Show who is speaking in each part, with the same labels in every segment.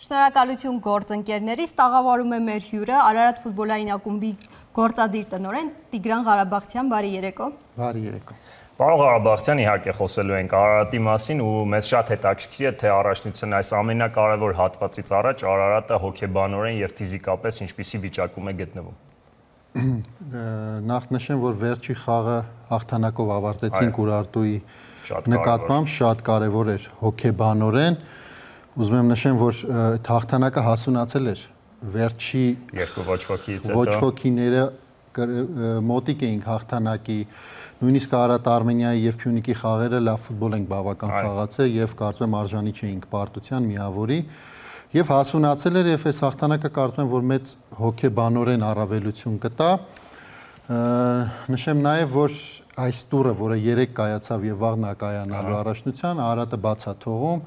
Speaker 1: Շնորհակալություն գործընկերներից, տաղավարում է մեր հյուրը, Արարատ ֆուտբոլային ակումբի գործադիր տնօրեն Տիգրան Ղարաբաղցյան, բարի երեկո։
Speaker 2: Բարի երեկո։
Speaker 3: Պարոն Ղարաբաղցյան, իհարկե խոսելու ենք Արարատի մասին ու մեզ շատ հետաքրքիր է, թե առաջնության այս ամենակարևոր հատվածից առաջ Արարատը հոգեբանորեն եւ ֆիզիկապես ինչպիսի վիճակում է գտնվում։
Speaker 2: Նախ նշեմ, որ վերջի խաղը հաղթանակով ավարտեցինք Ուրարտուի նկատմամբ, շատ կարևոր էր հոգեբանորեն։ Ուզում եմ նշեմ, որ այդ հաղթանակը հասունացել էր վերջի ոչ ոքիները մոտիկ էինք հաղթանակի, նույնիսկ Արարատ Արմենիայի եւ Փյունիկի խաղերը լավ ֆուտբոլ ենք բավական խաղացել եւ կարծում եմ արժանի չէինք պարտության միավորի եւ հասունացել էր եւ այս հաղթանակը կարծում եմ, որ մեծ հոգեբանորեն առավելություն կտա։ Նշեմ նաեւ, որ այս տուրը, որը 3 կայացավ եւ վաղ կայանալու առաջնության, Արարատը բաց է թողում,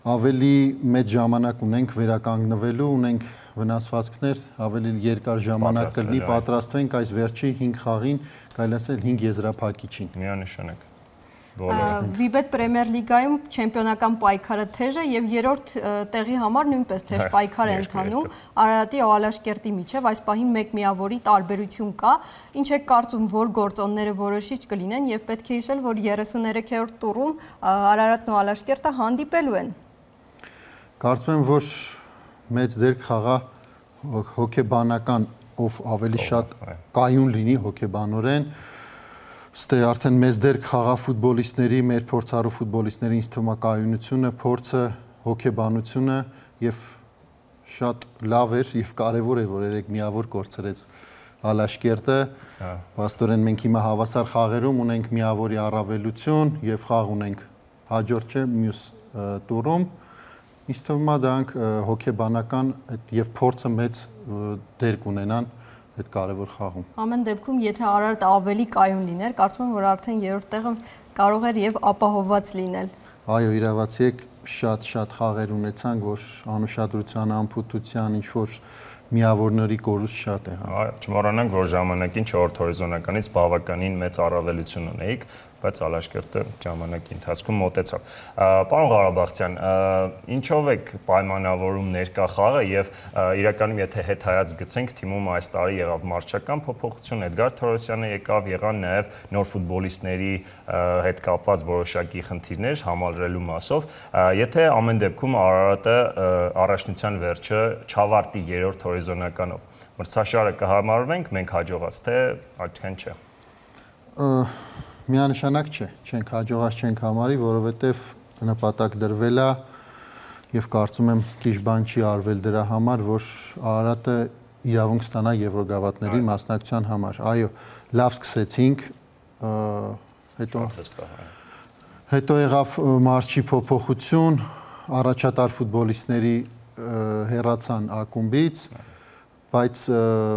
Speaker 2: ավելի մեծ ժամանակ ունենք վերականգնվելու, ունենք վնասվածքներ, ավելի երկար ժամանակ կլինի, պատրաստվենք այս վերջի 5 խաղին, կարելի ասել 5 եզրափակիչին։
Speaker 3: Միանշանակ։
Speaker 1: Վիբետ Պրեմիեր լիգայում չեմպիոնական պայքարը թեժ է եւ երրորդ տեղի համար նույնպես թեժ պայքար է ընթանում Արարատի ու Ալաշկերտի միջև, այս պահին մեկ միավորի տարբերություն կա։ Ինչ եք կարծում, որ գործոնները որոշիչ կլինեն եւ պետք է հիշել, որ 33-րդ տուրում Արարատն ու Ալաշկերտը հանդիպելու են։
Speaker 2: Կարծում եմ, որ մեծ դեր խաղա հոգեբանական, ով ավելի շատ կայուն լինի հոգեբանորեն, ստե արդեն մեծ դեր խաղա ֆուտբոլիստների, մեր փորձառու ֆուտբոլիստների ինձ թվում է կայունությունը, փորձը, հոգեբանությունը եւ շատ լավ էր եւ կարեւոր էր, որ երեք միավոր կորցրեց Ալաշկերտը։ Պաստորեն մենք հիմա հավասար խաղերում ունենք միավորի առավելություն եւ խաղ ունենք հաջորդ չէ մյուս տուրում։ Ինձ թվում է դրանք հոգեբանական եւ փորձը մեծ դեր կունենան այդ կարևոր խաղում։
Speaker 1: Ամեն դեպքում, եթե Արարատը ավելի կայուն լիներ, կարծում եմ, որ արդեն երրորդ տեղը կարող էր եւ ապահովված լինել։
Speaker 2: Այո, իրավացի եք, շատ խաղեր ունեցանք, որ անուշադրության, անփութության, ինչ որ միավորների կորուստ շատ է։
Speaker 3: Չմոռանանք, որ ժամանակին 4 հորիզոնականից բավականին մեծ առավելություն ունեիք, բայց Ալաշկերտը ժամանակի ընթացքում մոտեցավ։ Պարոն Ղարաբաղցյան, ինչով եք պայմանավորում ներկա խաղը եւ իրականում եթե հետհայաց գցենք, թիմում այս տարի եղավ մարզչական փոփոխություն, Էդգար Թորոսյանը եկավ, եղան նաեւ նոր ֆուտբոլիստների հետ կապված որոշակի խնդիրներ համալրելու մասով։ Եթե ամեն դեպքում Արարատը առաջնության վերջը չավարտի երրորդ հորիզոնականով, մրցաշարը կհամարվենք մենք հաջողած, թե այդքան չէ։
Speaker 2: Միանշանակ չէ, չենք հաջողած չենք համարի, որովհետև նպատակ դրվել է եւ կարծում եմ քիչ բան չի արվել դրա համար, որ Արարատը իրավունք ստանա Եվրոգավաթների մասնակցության համար։ Այո, լավ սկսեցինք, հետո եղավ մարզչի փոփոխություն, առաջատար ֆուտբոլիստների հեռացան ակումբից, բայց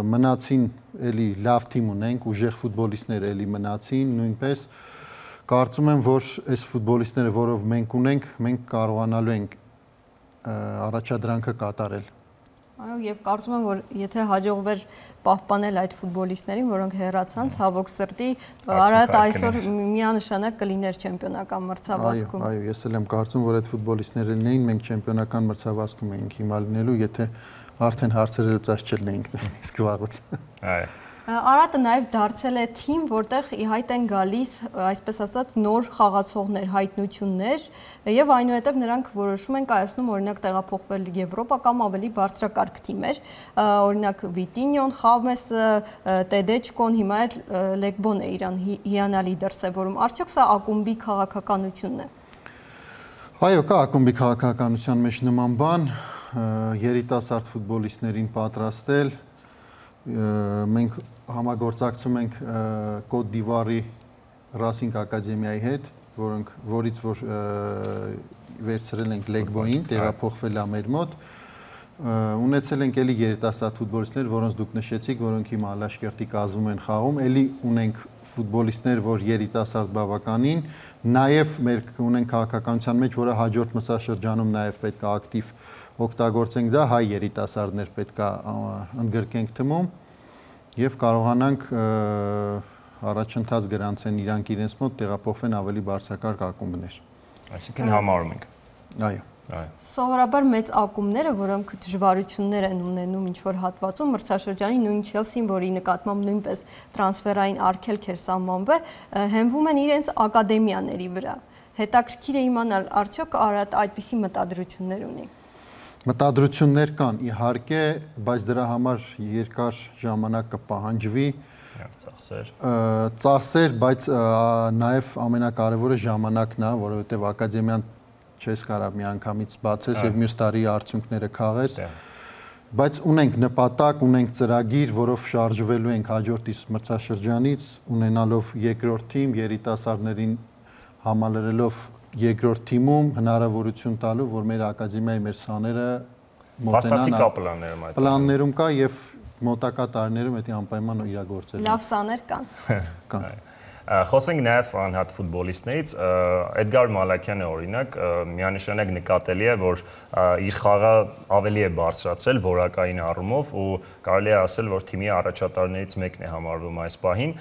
Speaker 2: մնացին էլի լավ թիմ ունենք, ուժեղ ֆուտբոլիստներ էլի մնացին, նույնպես կարծում եմ, որ այս ֆուտբոլիստները, որով մենք ունենք, մենք կարողանալու ենք առաջադրանքը կատարել։
Speaker 1: Այո, եւ կարծում եմ, որ եթե հաջողվեր պահպանել այդ ֆուտբոլիստներին, որոնք հեռացան, ցավոք սրտի, Արարատը այսօր միանշանակ կլիներ չեմպիոնական մրցավազքում։
Speaker 2: Այո, ես էլ եմ կարծում, որ այդ ֆուտբոլիստները լինեին, մենք չեմպիոնական մրցավազքում էինք հիմա լինելու, եթե արդեն հարցերը լուծած չլինեինք նույնիսկ վաղուց։
Speaker 3: Այո։
Speaker 1: Արարատը նաև դարձել է թիմ, որտեղ ի հայտ են գալիս, այսպես ասած, նոր խաղացողներ, հայտնություններ, եւ այնուհետեւ նրանք որոշում են կայացնում օրինակ տեղափոխվել Եվրոպա կամ ավելի բարձրակարգ թիմեր, օրինակ Վիտինյոն, Խամեսը, Տեդեչկոն, հիմա էլ Լեգբոն է իրան հիանալի դրսևորում։ Արդյոք սա ակումբի քաղաքականությունն է։
Speaker 2: Այո, կա ակումբի քաղաքականության մեջ նման բան, երիտասարդ ֆուտբոլիստներին պատրաստել, մենք համագործակցում ենք Կոտ դ'Իվուարի Ռասինգ ակադեմիայի հետ, որից որ վերցրել ենք Լեգբոին, տեղափոխվել է մեր մոտ, ունեցել ենք էլի երիտասարդ ֆուտբոլիստներ, որոնց դուք նշեցիք, որոնք հիմա Ալաշկերտի կազմում են խաղում, էլի ունենք ֆուտբոլիստներ, որ երիտասարդ բավականին, նաև մեր ունենք քաղաքականության մեջ, որը հաջորդ մրցաշրջանում նաև պետք է ակտիվ օգտագործենք դա, հայ երիտասարդներ պետք է ընդգրկենք թիմում եւ կարողանանք առաջընթաց գրանցեն իրանք իրենց մոտ տեղափոխվեն ավելի բարձրակարգ ակումբներ։
Speaker 3: Այսինքն համարում ենք։
Speaker 2: Այո։
Speaker 1: Սովորաբար մեծ ակումբները, որոնք դժվարություններ են ունենում ինչ-որ հատվածում, մրցաշրջանի նույն Չելսին, որի նկատմամբ նույնպես տրանսֆերային արգելք էր սահմանվել, հենվում են իրենց ակադեմիաների վրա։ Հետաքրքիր է իմանալ, արդյոք Արարատը այդպիսի մտադրություններ ունի։
Speaker 2: Մտադրություններ կան, իհարկե, բայց դրա համար երկար ժամանակ կպահանջվի, ծախսեր, բայց նաև ամենակարևորը ժամանակն է, որովհետև ակադեմիան չես կարող միանգամից բացես եւ մյուս տարի արդյունքները քաղես, բայց ունենք նպատակ, ունենք ծրագիր, որով շարժվելու ենք հաջորդ մրցաշրջանից, ունենալով երկրորդ թիմ, երիտասարդներին համալրելով երկրորդ թիմում հնարավորություն տալու, որ մեր ակադեմիայի մեր սաները մոտենան պլաններում կա եւ մոտակա տարիներում դա անպայման իրագործել։
Speaker 1: Լավ սաներ կան։
Speaker 3: Խոսենք նաև անհատ ֆուտբոլիստներից, Էդգար Մալաքյանը օրինակ միանշանակ նկատելի է, որ իր խաղը ավելի է բարձրացրել որակային առումով ու կարելի է ասել, որ թիմի առաջատարներից մեկն է համարվում այս պահին,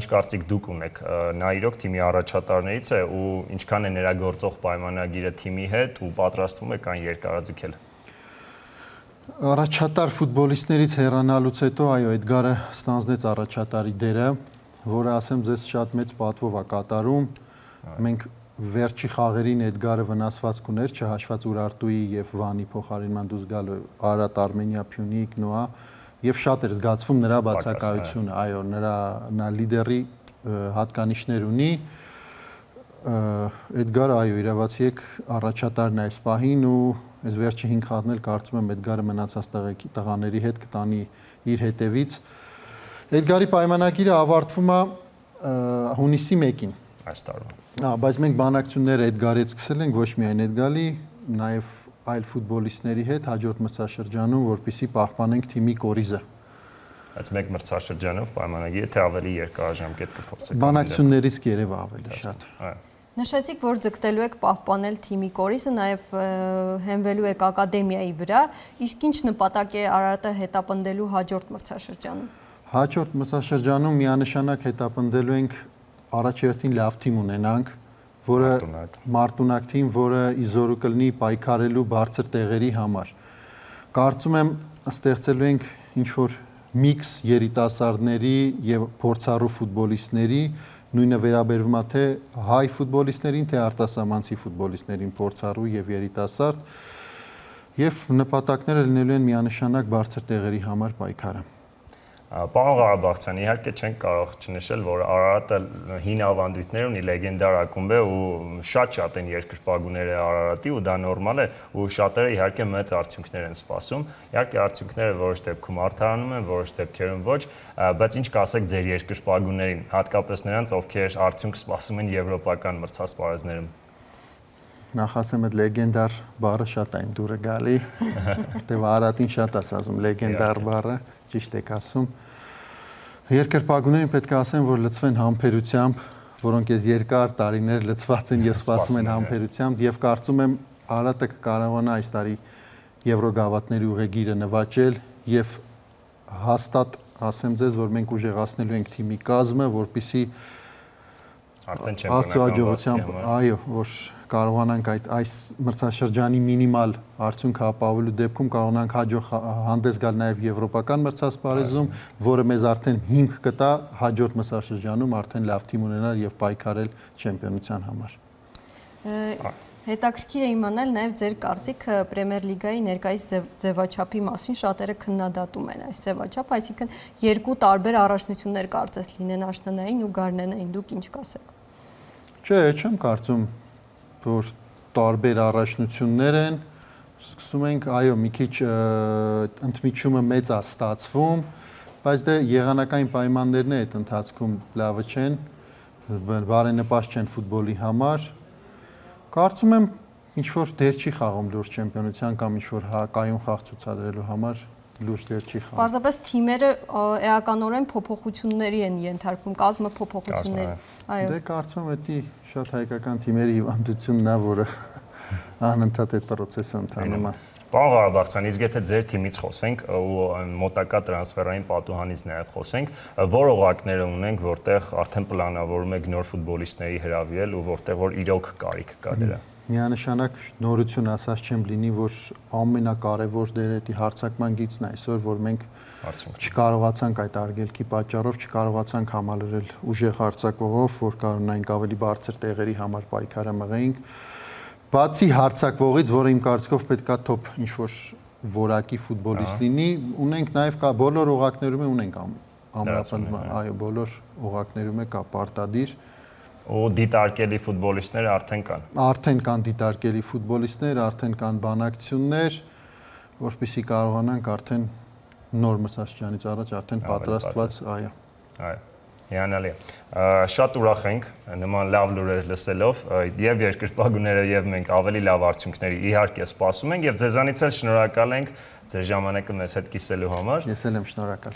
Speaker 3: ինչ կարծիք դուք ունեք, նա իրոք թիմի առաջատարներից է ու ինչքան է նրա գործող պայմանագիրը թիմի հետ ու պատրաստվում է կան երկարաձգել։
Speaker 2: Առաջատար ֆուտբոլիստներից հեռանալուց հետո, այո, Էդգարը ստանձնեց առաջատարի դերը, որը ասեմ ձեզ շատ մեծ պատվով է կատարում։ Մենք վերջի խաղերին Էդգարը վնասվածք ուներ, չհաշված Ուրարտուի եւ Վանի փոխարինման դուրս գալու Արարատ, Արմենիա, Փյունիկ, Նոա եւ շատ էր զգացվում նրա բացակայությունը, այո, նա լիդերի հատկանիշներ ունի։ Էդգարը, այո, իրավացի եք առաջատարն է այս պահին ու այս վերջի 5 խաղն էլ կարծում եմ Էդգարը մնացած տղաների հետ կտանի իր հետևից։ Էդգարի պայմանագիրը ավարտվում է հունիսի 1-ին
Speaker 3: այս տարվա։
Speaker 2: Բայց մենք բանակցությունները Էդգարի հետ սկսել ենք ոչ միայն Էդգարի, նաև այլ ֆուտբոլիստների հետ հաջորդ մրցաշրջանում, որպեսզի պահպանենք թիմի կորիզը։
Speaker 3: Բայց մեկ մրցաշրջանով պայմանագիրը թե ավելի երկարաժամկետ կփոխվի։
Speaker 2: Բանակցություններից կերևա ավելի շատ։
Speaker 1: Նշեցիք, որ ձգտելու եք պահպանել թիմի կորիզը, նաև հենվելու եք ակադեմիայի վրա, իսկ ինչ նպատակ է Արարատը հետապնդելու հաջորդ մրցաշրջանում։
Speaker 2: Հաջորդ մրցաշրջանում միանշանակ հետապնդելու ենք առաջերտին լավ թիմ ունենանք, որը մարտունակ թիմ, որը իզորու կլինի պայքարելու բարձր տեղերի համար։ Կարծում եմ ստեղծելու ենք ինչ-որ միքս երիտասարդների եւ փորձառու ֆուտբոլիստների, նույնը վերաբերվում է թե հայ ֆուտբոլիստներին, թե արտասահմանցի ֆուտբոլիստներին, փորձառու եւ երիտասարդ, եւ նպատակները լինելու են միանշանակ բարձր տեղերի համար պայքարը։
Speaker 3: Պարոն Ղարաբաղցյան, իհարկե չենք կարող չնշել, որ Արարատը հին ավանդույթներ ունի, լեգենդար ակումբ է ու շատ են երկրպագուները Արարատի ու դա նորմալ է ու շատերը իհարկե մեծ արդյունքներ են սպասում։ Իհարկե արդյունքները որոշ դեպքում արդարանում են, որոշ դեպքերում ոչ, բայց ինչ կասեք ձեր երկրպագուներին, հատկապես նրանց, ովքեր արդյունք սպասում են եվրոպական մրցասպարեզներում։
Speaker 2: Նախ ասեմ, այդ լեգենդար բառը շատ այն դուրը գալի, որտեղ Արարատին շատ ասում լեգենդար բառը, ճիշտ եք ասում։ Երկրպագուներին պետք է ասեմ, որ լցվեն համբերությամբ, որոնք այս երկար տարիներ լցված են եւ սպասում են համբերությամբ եւ կարծում եմ Արարատը կկարողանա այս տարի Եվրոգավաթների ուղեգիրը նվաճել եւ հաստատ ասեմ ձեզ, որ մենք ուժեղացնելու ենք թիմի կազմը, որպեսզի
Speaker 3: արդեն չեմպիոնական,
Speaker 2: այո, որ կարողանանք այս մրցաշրջանի մինիմալ արդյունք ապահովելու դեպքում կարողանանք հաջող հանդես գալ նաև եվրոպական մրցասպարեզում, որը մեզ արդեն հիմք կտա հաջորդ մրցաշրջանում արդեն լավ թիմ ունենալ եւ պայքարել չեմպիոնության համար։
Speaker 1: Հետաքրքիր է իմանալ նաև ձեր կարծիքը Պրեմիեր լիգայի ներկայիս ձևաչափի մասին, շատերը քննադատում են այս ձևաչափը, այսինքն երկու տարբեր առաջնություններ կարծես լինեն աշնանային ու գարնանային, դուք ինչ կասեք։
Speaker 2: Չէ, չեմ կարծում, որ տարբեր առաջնություններ են, սկսում ենք, այո, մի քիչ ընդմիջումը մեծ է ստացվում, բայց դե եղանակային պայմաններն այդ ընթացքում լավը չեն, բարենպաստ չեն ֆուտբոլի համար։ Կարծում եմ ինչ-որ դեր չի խաղում լուրջ չեմպիոնության կամ ինչ-որ կայուն խաղ ցուցադրելու համար լուրջ դեր չի խաղում։
Speaker 1: Պարզապես թիմերը էականորեն փոփոխությունների են ենթարկվում, կազմը փոփոխությունների։
Speaker 2: Այո։ Դե կարծում եմ դա շատ հայկական թիմերի հիվանդությունն է, որը անընդհատ այդ process-ը ընթանում է։
Speaker 3: Պարոն Ղարաբաղցյան, իսկ եթե ձեր թիմից խոսենք ու մոտակա տրանսֆերային պատուհանից նաև խոսենք, որ օղակները ունենք, որտեղ արդեն պլանավորում եք նոր ֆուտբոլիստների հրավիրել ու որտեղ որ իրոք կարիք կա դրա։
Speaker 2: Միանշանակ նորություն ասած չեմ լինի, որ ամենակարևոր դերը դի հարցակման գիծն է այսօր, որ մենք չկարողացանք այդ արգելքի պատճառով չկարողացանք համալրել ուժեղ հարցակողով, որ կարողանայինք ավելի բարձր տեղերի համար պայքարը մղեինք։ Բացի հարցակվողից, որը իմ կարծիքով պետքա top ինչ-որ որակի ֆուտբոլիստ լինի, ունենք նաև կա բոլոր օղակներում ունենք ամրապնդման, այո, բոլոր օղակներում կա պարտադիր
Speaker 3: ու դիտարկելի ֆուտբոլիստներ արդեն կան։
Speaker 2: Արդեն կան դիտարկելի ֆուտբոլիստներ, արդեն կան բանակցություններ, որպեսզի կարողանանք արդեն նոր մրցաշրջանից առաջ արդեն պատրաստված, այո։
Speaker 3: Այո։ Հիանալի է։ Շատ ուրախ ենք նման լավ լուրեր լսելով եւ երկրպագուները եւ մենք ավելի լավ արդյունքների իհարկե սպասում ենք եւ ձեզանից էլ շնորհակալ ենք ձեր ժամանակը մեզ հետ կիսելու համար։
Speaker 2: Ես էլ եմ շնորհակալ։